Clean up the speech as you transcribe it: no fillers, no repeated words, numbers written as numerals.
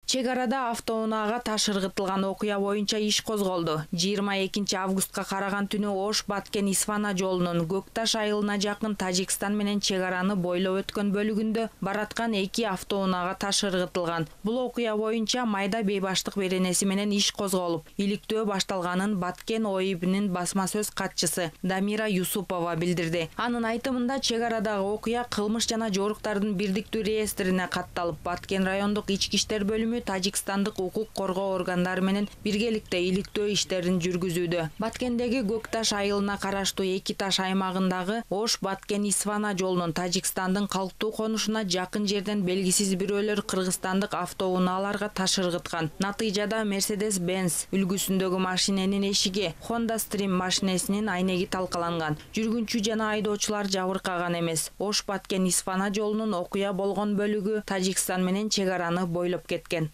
Чек арада автоунаага таш ыргытылган окуя боюнча иш козголду. 22 августка караган түнү Ош-Баткен-Исфана жолунун Көкташ айылына жакын Тажикстан менен чек араны бойлоп өткөн бөлүгүндө бараткан 2 автоунаага таш ыргытылган. Бул окуя боюнча майда бейбаштык беренеси менен иш козголуп, иликтөө башталганын Баткен ОИБ'нин басма сөз катчысы Дамира Юсупова билдирди. Анын айтымында чек арадагы окуя кылмыш жана жоруктардын бирдиктүү реестрине катталып, Баткен райондук ички иштер бөлүмү Тажикстандык укук коргоо органдары менен биргеликте иликтөө иштерин жүргүзүүдө. Баткендеги Көкташ айылына караштуу Эки Таш аймагындагы Ош-Баткен-Исфана жолунун Тажикстандын калктуу конушуна жакын жерден белгисиз бирөөлөр кыргызстандык автоунааларга таш ыргыткан. Натыйжада Mercedes-Benz үлгүсүндөгү машиненин эшиги, Honda Stream машинесинин айнеги талкаланган. Жүргүнчү жана айдоочулар жабыркаган эмес. Ош-Баткен-Исфана жолунун окуя болгон бөлүгү Тажикстан менен чек араны бойлоп кеткен.